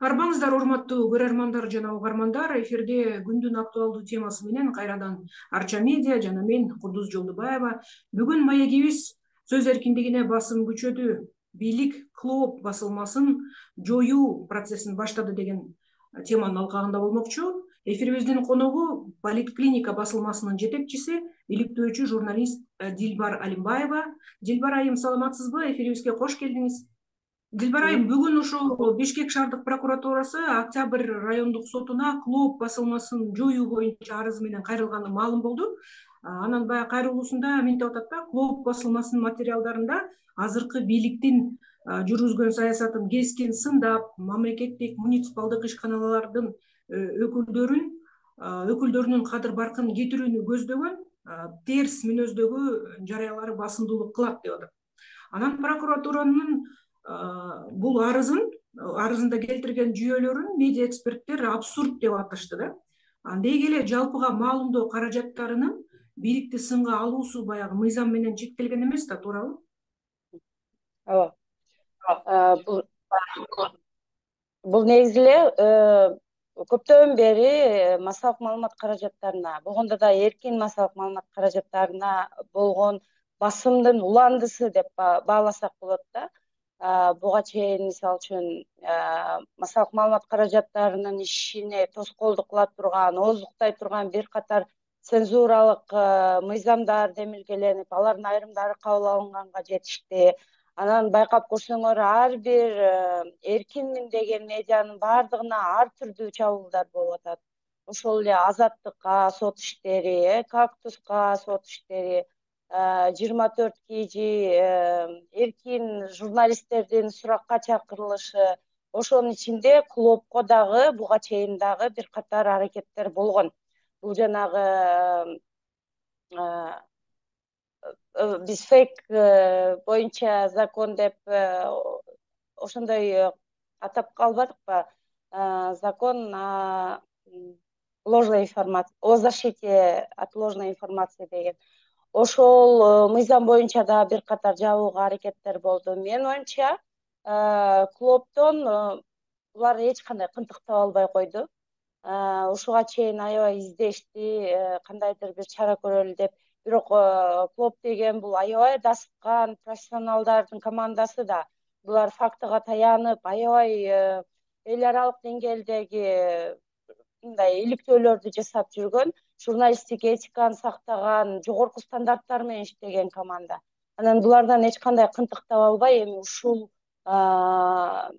Арбаңыздар, урматтуу көрөрмандар жана угармандар. Эфирде күндүн актуалдуу темасы менен кайрадан Арча медиа жана мен Кудуз Жолдубаева. Бүгүн маегибиз сөз эркиндигине басым күчөдү, бийлик КЛООП басылмасын жоюу процессин баштады деген теманын алкагында болмокчу. Эфирибиздин коногу Политклиника басылмасынын жетекчиси, иликтөөчү журналист Дилбар Алимбаева. Дилбар айым, саламатсызбы? Эфирибизге кош келдиңиз. Дилбар айым, бүгүн ушул Бишкек шаардык прокуратурасы Октябрь райондук сотуна КЛООП басылмасын жоюу боюнча арызы менен кайрылганы маалым болду. Анан баягы кайрылуусунда мынтип атат да: КЛООП басылмасынын материалдарында азыркы бийликтин жүргүзгөн саясатын кескин сындап, мамлекеттик муниципалдык ишканалардын өкүлдөрүнүн кадыр баркын кетирүүнү көздөгөн терс мүнөздөгү жарыялары басымдуулук кылат деп атат. Анан прокуратуранын бул арызында келтирген жүйөлөрүн медиа эксперттер абсурд деп аташты да. Деги эле жалпыга маалымдоо каражаттарынын бийликти сынга алуусу баягы мыйзам менен чектелген эмес да, туурабы? Ооба. Бул негизи эле көптөн бери массалык маалымат каражаттарына, болгондо да эркин массалык маалымат каражаттарына болгон басымдын уландысы деп бааласак болот да. Буга чейин мисалы үчүн массалык маалымат каражаттарынын ишине тоскоолдук кыла турган, ооздуктай турган бир катар цензуралык мыйзамдар демилгеленип, алардын айрымдары кабыл алынганга жетишти. Анан байкап көрсөңөр, ар бир эркинмин деген медианын баардыгына ар түрдүү чабуулдар болуп атат. Ошол эле Азаттыкка сот иштери, Кактуска сот иштери, 24 KG эркин журналисттердин суракка чакырылышы, ошонун ичинде КЛООПко дагы буга чейин дагы бир катар аракеттер болгон. Бул жанагы биз фейк боюнча закон деп ошондой атап калбадыкпы? Закон ложной информации, о защите от ложной информации деген. Ошол мыйзам боюнча да бир катар жабууга аракеттер болду. Менин оюмча, КЛООПтон булар эч кандай кынтык таба албай койду. Ушуга чейин аябай издешти, кандайдыр бир чара көрөлү деп. Бирок КЛООП деген бул аябай дасыккан профессионалдардын командасы да. Булар фактыга таянып, аябай эл аралык деңгээлдеги мындай иликтөөлөрдү жасап жүргөн, журналисттик этиканы сактаган, жогорку стандарттар менен иштеген команда. Анан булардан эч кандай кынтык таба албай, эми ушул кадамга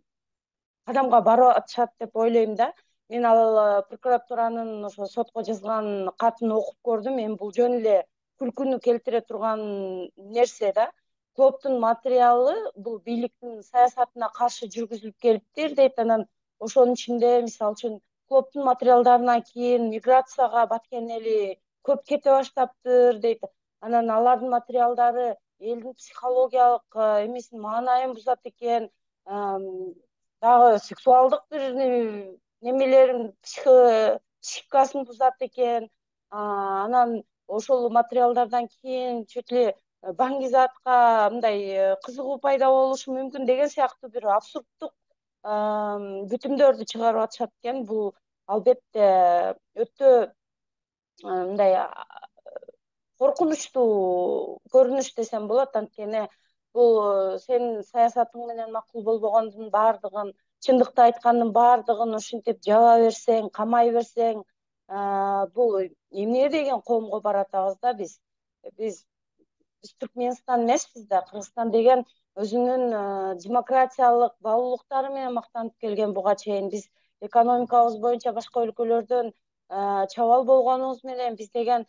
барып атышат деп ойлойм да. Мен ал прокуратуранын ошо сотко жазган катын окуп көрдүм. Эми бул жөн эле күлкүнү келтире турган нерсе да. КЛООПтун материалы бул бийликтин саясатына каршы жүргүзүлүп келиптир дейт. Анан ошонун ичинде мисалы үчүн КЛООПтун материалдарынан кийин миграцияга баткен эли көп кете баштаптыр дейт. Анан алардын материалдары элдин психологиялык эмесин, маанайын бузат экен, дагы сексуалдык бир немелерин, психикасын бузат экен. Анан ошол материалдардан кийин чөт эле Баңгизатка мындай кызыгуу пайда болушу мүмкүн деген сыяктуу бир абсурддук бүтүмдөрдү чыгарып атышат экен. Бул албетте өтө мындай коркунучтуу көрүнүш десем болот. Анткени бул сенин саясатың менен макул болбогондун баардыгын, чындыкты айткандын баардыгын ушинтип жаба берсең, камай берсең, бул эмне деген коомго баратабыз да биз. Биз Түркмөнстан эмеспиз да. Кыргызстан деген өзүнүн демократиялык баалуулуктары менен мактанып келген буга чейин. Биз экономикабыз боюнча башка өлкөлөрдөн чабал болгонубуз менен биз деген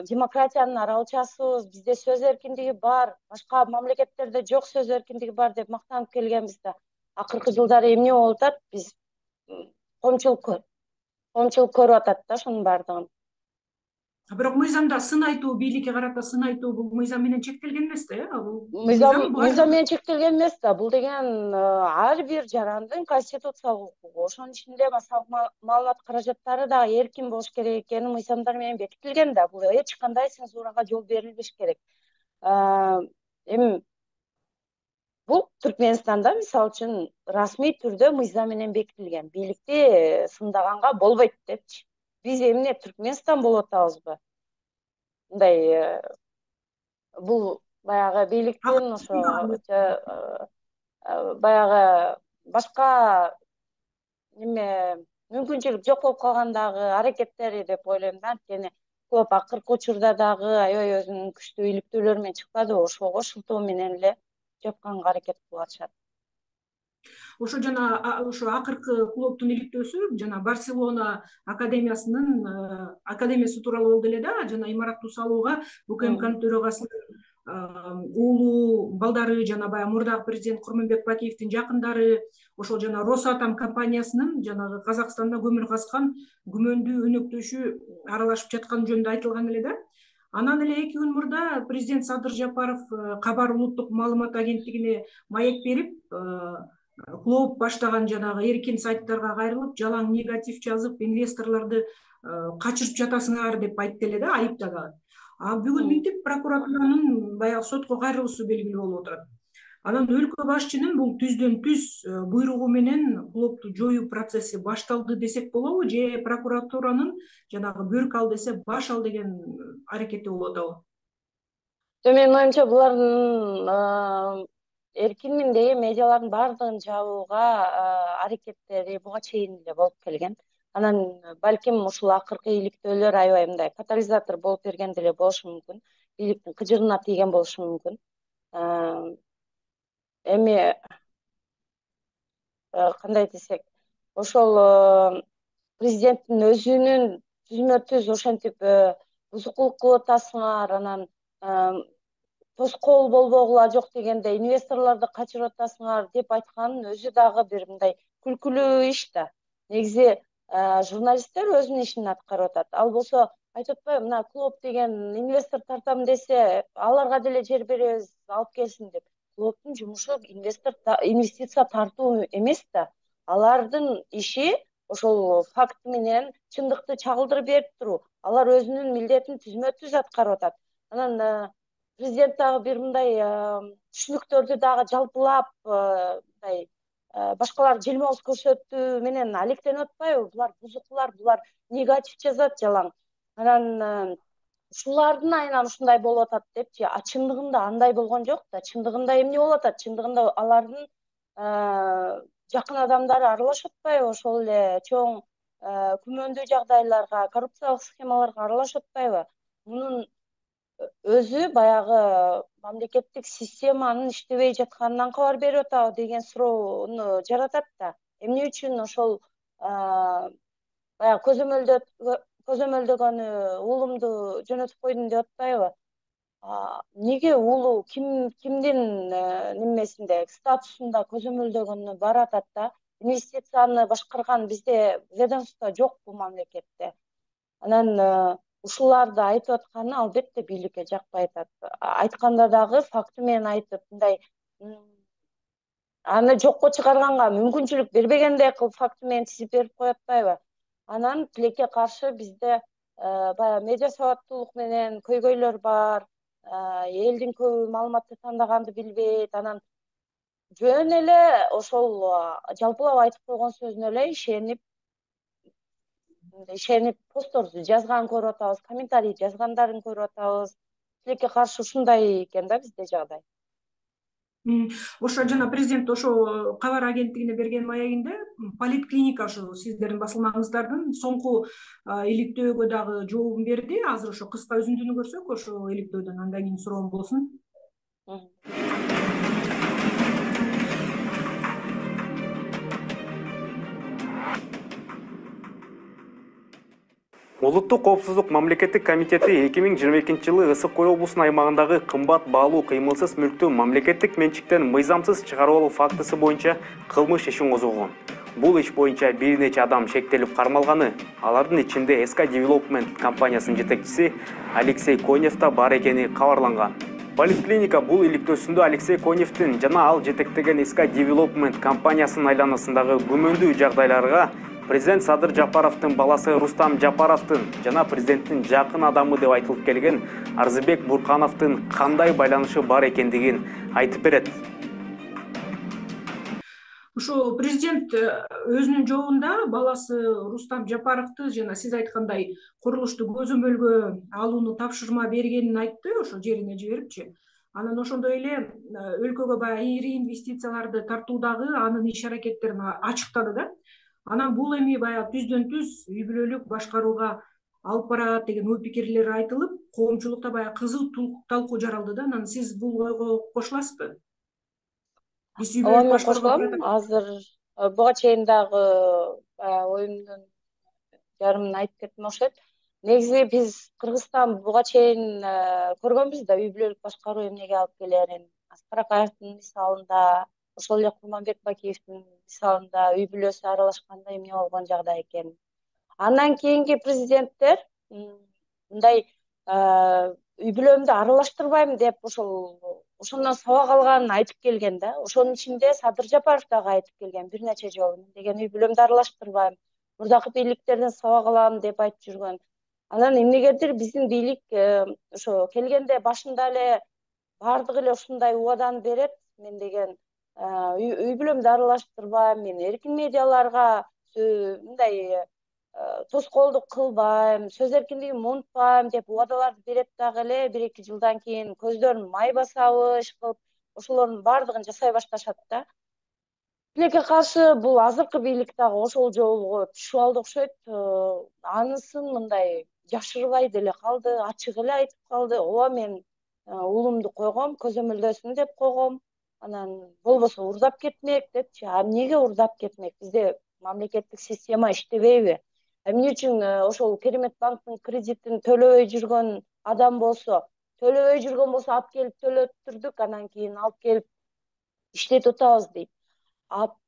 демократиянын аралчасыбыз, бизде сөз эркиндиги бар, башка мамлекеттерде жок сөз эркиндиги бар деп мактанып келгенбиз да. Акыркы жылдары эмне болуп атат? Биз коомчулук көрүп атат да ошонун баардыгын. Бирок мыйзамда сын айтуу, бийликке карата сын айтуу бул мыйзам менен чектелген эмес да, Мыйзам менен чектелген эмес да. Бул деген ар бир жарандын конституциялык укугу. Ошонун ичинде массалык маалымат каражаттары да эркин болуш керек экени мыйзамдар менен бекитилген да. Бул эч кандай цензурага жол берилбеш керек. Эми Бул Түркменстанда мисалы үчүн расмий түрдө мыйзам менен бекитилген. Бийликти сындаганга болбойт депчи. Биз эмне Түркменстан болуп атабызбы? Мындай бул баягы бийликтин ошо баягы башка неме мүмкүнчүлүк жок болуп калгандагы аракеттери деп ойлойм да. Анткени көп акыркы учурда дагы аябай өзүнүн күчтүү иликтөөлөрү менен чыкпадыбы, ошого шылтоо менен эле жапканга аракет кылып атышат. Ошо жана ошо акыркы клубдун иликтөөсү жана Барселона академиясы тууралуу болду эле да, жана имараттуу салууга УКМКнын төрагасынын уулу, балдары жана баягы мурдагы президент Курманбек Бакиевдин жакындары, ошол жана Росатом компаниясынын жанагы Казакстанда көмүр казган күмөндүү өнөктөшү аралашып жатканы жөнүндө айтылган эле да. Анан эле 2 күн мурда президент Садыр Жапаров Кабар улуттук маалымат агенттигине маек берип, клуб баштаган жанагы эркин сайттарга кайрылып, жалаң негатив жазып, инвесторлорду качырып жатасыңар деп айтты эле да, айыптаган. Бүгүн минтип прокуратуранын баягы сотко кайрылуусу белгилүү болуп отурат. Анан өлкө башчынын бул түздөн түз буйругу менен клубду жоюу процесси башталды десек болобу, же прокуратуранын жанагы бөрк ал десе баш ал деген аракети болуп атабы? Менин оюмча булардын эркинминдеги медиалардын баардыгын жабууга аракеттери буга чейин эле болуп келген. Анан балким ушул акыркы иликтөөлөр аябай мындай катализатор болуп берген деле болушу мүмкүн. Бийликтин кыжырына тийген болушу мүмкүн. Эми кандай десек, ошол президенттин өзүнүн түзмө түз ошентип бузукулук кылып атасыңар, анан тоскоол болбогула жок дегенде инвесторлорду качырып атасыңар деп айтканын өзү дагы бир мындай күлкүлүү иш да. Негизи журналисттер өзүнүн ишин аткарып атат. Ал болсо айтып атпайбы, мына клуб деген инвестор тартам десе, аларга деле жер беребиз, алып келсин деп. Клубдун жумушу инвестиция тартуу эмес да. Алардын иши ошол факт менен чындыкты чагылдырып берип туруу. Алар өзүнүн милдетин түзмө түз аткарып атат. Анан президент дагы бир мындай түшүнүктөрдү дагы жалпылап мындай башкалар желмоз көрсөтүү менен алектенип атпайбы? Булар бузукулар, булар негатив жазат жалаң. Анан ушулардын айынан ушундай болуп атат депчи. Чындыгында андай болгон жок да. Чындыгында эмне болуп атат? Чындыгында алардын жакын адамдары аралашып атпайбы? Ошол эле чоң күмөндүү жагдайларга, коррупциялык схемаларга аралашып атпайбы? Мунун өзү баягы мамлекеттик системанын иштебей жатканынан кабар берип атабы деген суроону жаратат да. Эмне үчүн ошол баягы көзөмөлдөгөнү уулумду жөнөтүп койдум деп атпайбы? Неге уулу кимдин немесинде, статусунда көзөмөлдөгөнү баратат да? Инвестицияны башкарган бизде ведомство жок бул мамлекетте. Анан ушуларды айтып атканы албетте бийликке жакпай атат. Айтканда дагы факты менен айтып, мындай аны жокко чыгарганга мүмкүнчүлүк бербегендей кылып факты менен тизип берип коюп атпайбы? Анан тилекке каршы бизде баягы медиа сабаттуулук менен көйгөйлөр бар. Элдин көбү маалыматты тандаганды билбейт. Анан жөн эле ошол жалпылап айтып койгон сөзүнө эле ишенип постторду жазганын көрүп атабыз, комментарий жазгандарын көрүп атабыз. Тилекке каршы ушундай экен да бизде жагдай. Ошо жана президент ошо кабар агенттигине берген маегинде поликлиника ошо сиздердин басылмаңыздардын соңку иликтөөгө дагы жообун берди. Азыр ошо кыска үзүндүнү көрсөк ошо иликтөөдөн, андан кийин суроом болсун. Улуттук коопсуздук мамлекеттик комитети 2022-жылы Ысык Көл облусунун аймагындагы кымбат баалуу кыймылсыз мүлктү мамлекеттик менчиктен мыйзамсыз чыгарып алуу фактысы боюнча кылмыш ишин козгогон. Бул иш боюнча бир нече адам шектелип кармалганы, алардын ичинде SK Development компаниясынын жетекчиси Алексей Конев да бар экени кабарланган. Поликлиника бул иликтөөсүндө Алексей Коневдин жана ал жетектеген SK Development компаниясынын айланасындагы күмөндүү жагдайларга президент Садыр Жапаровдун баласы Рустам Жапаровдун жана президенттин жакын адамы деп айтылып келген Арзыбек Буркановдун кандай байланышы бар экендигин айтып берет. Ошо президент өзүнүн жообунда баласы Рустам Жапаровду жана сиз айткандай курулушту көзөмөлгө алууну тапшырма бергенин айтты, ошо жерине жиберипчи. Анан ошондой эле өлкөгө баягы ири инвестицияларды тартуудагы анын иш аракеттерин ачыктады да. Анан бул эми баягы түздөн түз үй бүлөлүк башкарууга алып барат деген ой пикирлер айтылып, коомчулукта баягы кызуу талкуу жаралды да. Анан сиз бул ойго кошуласызбы? Биз үй Ооба, бүлөлүк мен башкарууга кошулам. Азыр буга чейин дагы оюмдун жарымын айтып кеттим окшойт. Негизи биз Кыргызстан буга чейин көргөнбүз да үй бүлөлүк башкаруу эмнеге алып келерин. Аскар Акаевдин мисалында, ошол эле Курманбек Бакиевдин мисалында үй бүлөсү аралашканда эмне болгон жагдай экенин. Андан кийинки президенттер мындай үй бүлөмдү аралаштырбайм деп ошондон сабак алганын айтып келген да. Ошонун ичинде Садыр Жапаров дагы айтып келген бир нече жолу. Мен деген үй бүлөмдү аралаштырбайм, мурдакы бийликтерден сабак алам деп айтып жүргөн. Анан эмнегедир биздин бийлик ошо келгенде башында эле баардыгы эле ушундай убаданы берет. Мен деген үй бүлөмдү аралаштырбайм, мен эркин медиаларга мындай тоскоолдук кылбайм, сөз эркиндигин унутпайм деп убадаларды берет дагы эле, 1-2 жылдан кийин көздөрүн май басабы иш кылып, ошолордун баардыгын жасай башташат да. Тилекке каршы бул азыркы бийлик дагы ошол жолго түшүп алды окшойт. Анысын мындай жашырбай деле калды, ачык эле айтып калды. Ооба, мен уулумду койгом, көзөмөлдөсүн деп койгом. Анан болбосо урдап кетмек депчи. Эмнеге урдап кетмек? Бизде мамлекеттик система иштебейби? Эмне үчүн ошол Керемет банктын кредитин төлөбөй жүргөн адам болсо, алып келип төлөттүрдүк, анан кийин алып келип иштетип атабыз дейт.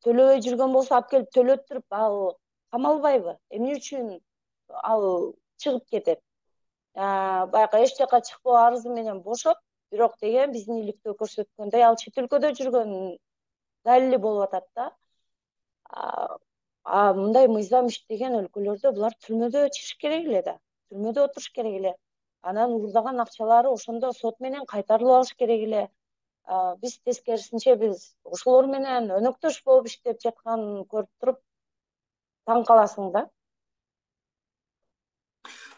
Төлөбөй жүргөн болсо алып келип төлөттүрүп, ал камалбайбы? Эмне үчүн ал чыгып кетет? Баягы эч жака чыкпоо арызы менен бошот, бирок деген биздин иликтөө көрсөткөндөй ал чет өлкөдө жүргөн далили болуп атат да. Мындай мыйзам иштеген өлкөлөрдө булар түрмөдө чыгыш керек эле да. Түрмөдө отуруш керек эле. Анан уурдаган акчалары ошондо сот менен кайтарылып алыш керек эле. Биз тескерисинче биз ошолор менен өнөктөш болуп иштеп жатканын көрүп туруп таң каласың да.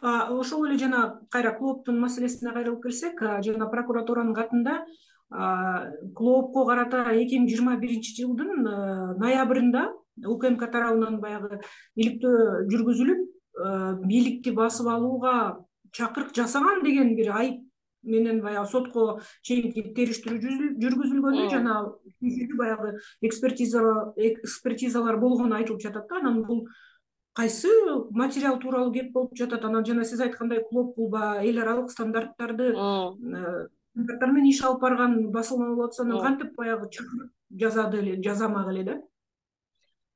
Ошол эле жана кайра клооптун маселесине кайрылып келсек, жана прокуратуранын катында клоопко карата 2021 жылдын ноябрында УКМК тарабынан баягы иликтөө жүргүзүлүп, бийликти басып алууга чакырык жасаган деген бир айып менен баягы сотко чейинки териштирүү жүргүзүлгөнү жана баягы экспертизалар болгону айтылып жатат да. Анан бул кайсы материал тууралуу кеп болуп жатат? Анан жана сиз айткандай клооп бул эл аралык стандарттар менен иш алып барган басылма болуп атса, анан кантип баягы чакырык жазамак эле да?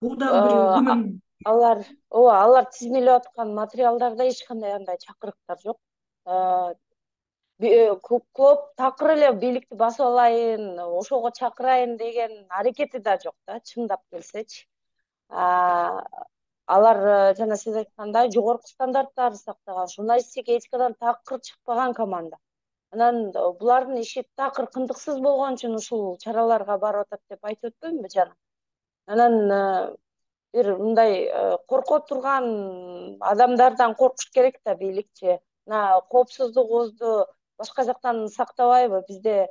Бул дагы бир күмөн. Алар тизмелеп аткан материалдарда эч кандай андай чакырыктар жок. Клооп такыр эле бийликти басып алайын, ошого чакырайын деген аракети да жок да, чындап келсечи. Алар жана сиз айткандай жогорку стандарттарды сактаган, журналистика этикадан такыр чыкпаган команда. Анан булардын иши такыр кындыксыз болгон үчүн ушул чараларга барып атат деп айтып өтпөймүнбү жана. Анан бир мындай корко турган адамдардан коркуш керек да бийликчи. Коопсуздугубузду башка жактан сактабайбы? Бизде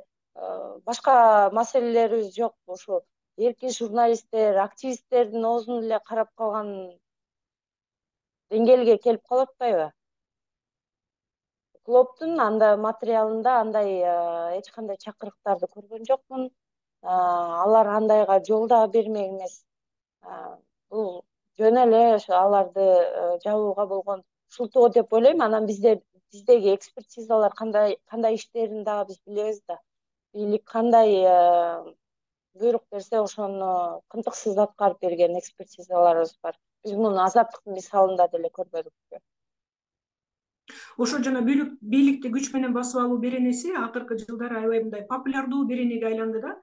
башка маселелерибиз жокпу? Ушу эркин журналисттер, активисттердин оозун эле карап калган деңгээлге келип калып атпайбы? Клооптун материалында андай эч кандай чакырыктарды көргөн жокмун. Алар андайга жол да бермек эмес. Бул жөн эле аларды жабууга болгон шылтоо деп ойлойм. Анан биздеги экспертизалар кандай иштерин дагы биз билебиз да. Бийлик кандай буйрук берсе ошону кынтыксыз аткарып берген экспертизаларыбыз бар. Биз муну Азаттыктын мисалында деле көрбөдүкпү? Ошо жана бийликти күч менен басып алуу беренеси акыркы жылдары аябай мындай популярдуу беренеге айланды да.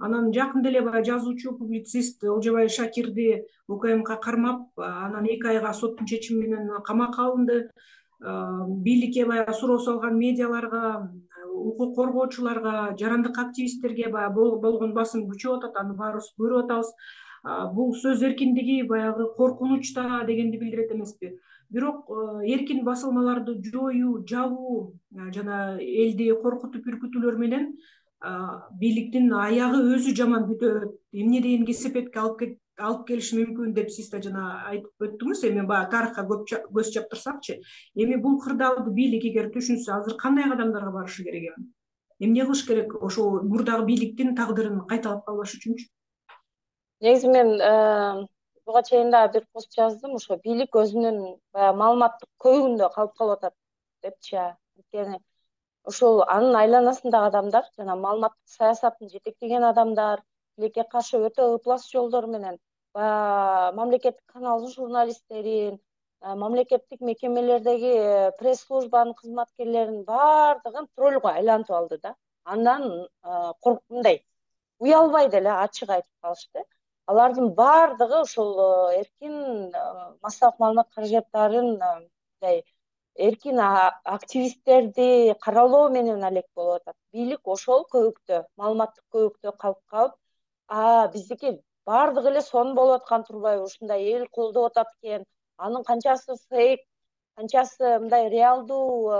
Анан жакында эле баягы жазуучу, публицист Олжобай Шакирди УКМК кармап, анан 2 айга соттун чечими менен камакка алынды. Бийликке баягы суроо салган медиаларга, укук коргоочуларга, жарандык активисттерге баягы болгон басым күчөп атат, аны баарыбыз көрүп атабыз. Бул сөз эркиндиги баягы коркунучта дегенди билдирет эмеспи? Бирок эркин басылмаларды жоюу, жабуу жана элди коркутуп үркүтүүлөр менен бийликтин аягы өзү жаман бүтөт, эмне деген кесепетке алып келиши мүмкүн деп сиз да жана айтып өттүңүз. Эми баягы тарыхка көз чаптырсакчы, эми бул кырдаалды бийлик эгер түшүнсө азыр кандай кадамдарга барышы керек эми? Эмне кылыш керек ошол мурдагы бийликтин тагдырын кайталап калбаш үчүнчү? Негизи мен буга чейин дагы бир пост жаздым, ошо бийлик өзүнүн баягы маалыматтык көйгүндө калып атат депчи. Анткени ошол анын айланасындагы адамдар жана маалыматтык саясатын жетектеген адамдар тилекке каршы өтө ыплас жолдор менен баягы мамлекеттик каналдын журналисттерин, мамлекеттик мекемелердеги пресс-службанын кызматкерлеринин баардыгын троллго айлантып алды да. Андан мындай уялбай деле ачык айтып калышты. Алардын баардыгы ошол эркин массалык маалымат каражаттарын мындай эркин активисттерди каралоо менен алек болуп атат. Бийлик ошол көйүктө, маалыматтык көйүктө калып, биздики баардыгы эле сонун болуп аткан турбайбы, ушундай эл колдоп атат экен, анын канчасы фейк, канчасы мындай реалдуу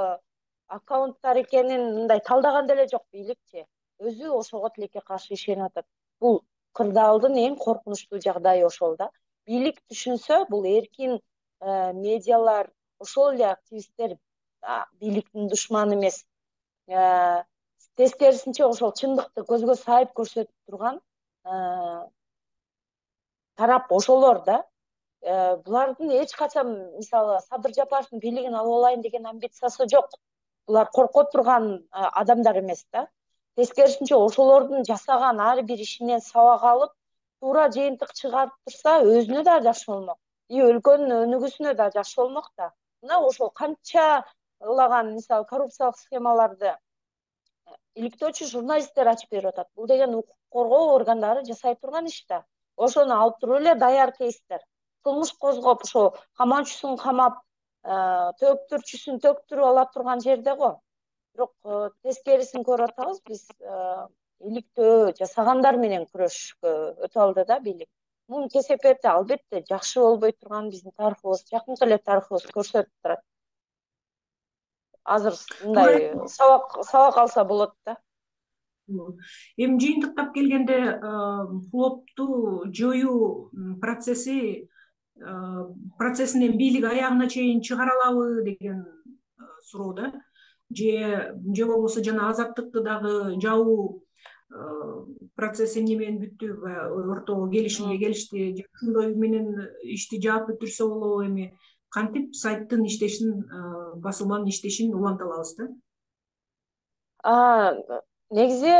аккаунттар экенин мындай талдаган деле жок бийликчи. Өзү ошого тилекке каршы ишенип атат. Бул кырдаалдын эң коркунучтуу жагдайы ошол да. Бийлик түшүнсө, бул эркин медиалар, ошол эле активисттер бийликтин душманы эмес. Тескерисинче ошол чындыкты көзгө сайып көрсөтүп турган тарап ошолор да. Булардын эч качан мисалы Садыр Жапаровдун бийлигин алып алайын деген амбициясы жок. Булар коркот турган адамдар эмес да. Тескерисинче ошолордун жасаган ар бир ишинен сабак алып, туура жыйынтык чыгарып турса, өзүнө да жакшы болмок. И өлкөнүн өнүгүүсүнө да жакшы болмок да. Мына ошол канча ылаган мисалы коррупциялык схемаларды иликтөөчү журналисттер ачып берип атат. Бул деген укук коргоо органдары жасай турган иш да. Ошону алып туруп эле даяр кейстер. Кылмыш козгоп, ошо камаучусун камап, төктүрчүсүн төктүрүп ала турган жерде го. Бирок тескерисин көрүп атабыз, биз иликтөө жасагандар менен күрөшкө өтө алды да бийлик. Мунун кесепети албетте жакшы болбой турган биздин тарыхыбыз, жакынкы эле тарыхыбыз көрсөтүп турат. Азыр мындай сабак алса болот да. Эми жыйынтыктап келгенде флопту жоюу процессинен бийлик аягына чейин чыгара алабы деген суроо да. Же болбосо жана азаттыкты дагы жабуу процесси эмне менен бүттү, ортого келишимге келишти, же ошондой менен ишти жаап бүтүрсө болобу? Эми кантип сайттын иштешин, басылманын иштешин уланта алабыз да? Негизи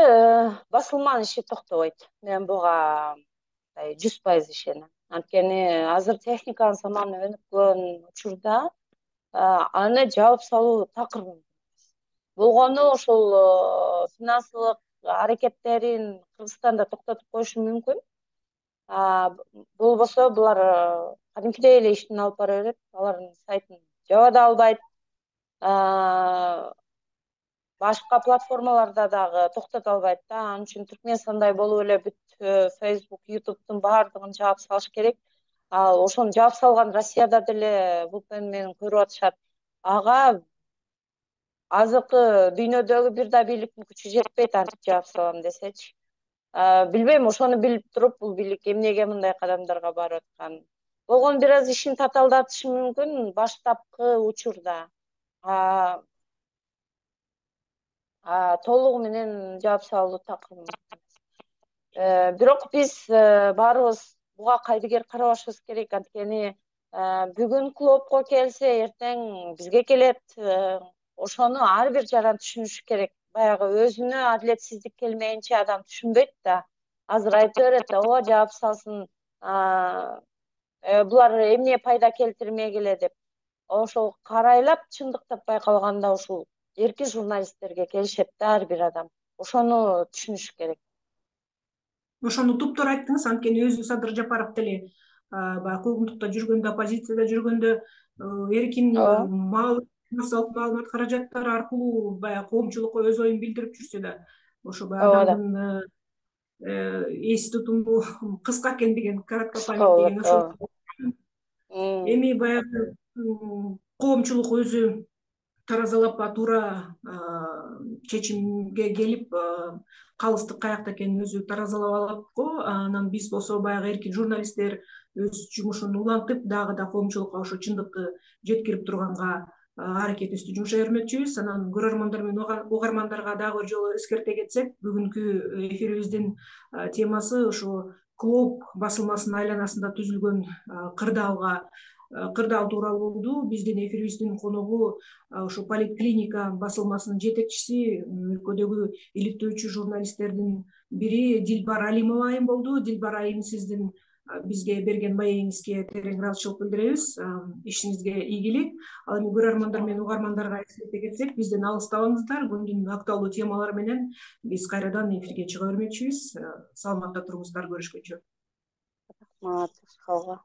басылманын иши токтобойт. Мен буга 100% ишенем. Анткени азыр техниканын заманы өнүккөн учурда аны жаап салуу такыр мүмкүн. Болгону ошол финансылык аракеттерин Кыргызстанда токтотуп коюшу мүмкүн. Болбосо булар кадимкидей эле иштин алып бара берет. Алардын сайтын жаба да албайт. Башка платформаларда дагы токтото албайт да. Анын үчүн Түркмөнстандай болуп эле бүт Facebook, YouTube'дун баардыгын жаап салыш керек. Ал ошону жаап салган Россияда деле VPN менен көрүп атышат. Ага азыркы дүйнөдөгү бир да бийликтин күчү жетпейт антип жаап салам десечи. Билбейм, ошону билип туруп бул бийлик эмнеге мындай кадамдарга барып атканын. Болгону бир аз ишин татаалдатышы мүмкүн баштапкы учурда. Толугу менен жаап салуу такыр мүмкүн. Бирок биз баарыбыз буга кайдыгер карабашыбыз керек. Анткени бүгүн клубко келсе, эртең бизге келет. Ошону ар бир жаран түшүнүшү керек. Баягы өзүнө адилетсиздик келмейинче адам түшүнбөйт да. Азыр айтып берет да, ооба жаап салсын, булар эмне пайда келтирмей келе деп. Ошол карайлап чындыктап байкалганда ушул эркин журналисттерге келишет да ар бир адам. Ошону түшүнүш керек. Ошону туптуура айттыңыз. Анткени өзү Садыр Жапаров деле баягы куугунтукта жүргөндө, оппозицияда жүргөндө эркин массалык маалымат каражаттары аркылуу баягы коомчулукка өз оюн билдирип жүрсө да, ошо баягы адамдын эс тутуму кыска экен деген, коротко память деген ошол. Эми баягы коомчулук өзү таразалап туура чечимге келип, калыстык каякта экенин өзү таразалап алат го. Анан биз болсо баягы эркин журналисттер өз жумушун улантып, дагы да коомчулукка ошо чындыкты жеткирип турганга аракетибизди жумушай бермекчибиз. Анан көрөрмандар менен угармандарга дагы бир жолу эскерте кетсек, бүгүнкү эфирибиздин темасы ошо Клоп басылмасынын айланасында түзүлгөн кырдаал тууралуу болду. Биздин эфирибиздин коногу ошо Политклиника басылмасынын жетекчиси, өлкөдөгү иликтөөчү журналисттердин бири Дилбар Алимова айым болду. Дилбар айым, сиздин бизге берген маегиңизге терең ыраазычылык билдиребиз. Ишиңизге ийгилик. Ал эми көрөрмандар менен угармандарга эскерте кетсек, бизден алыстабаңыздар. Күндүн актуалдуу темалары менен биз кайрадан эфирге чыга бермекчибиз. Саламатта туруңуздар, көрүшкөнчө. Рахмат.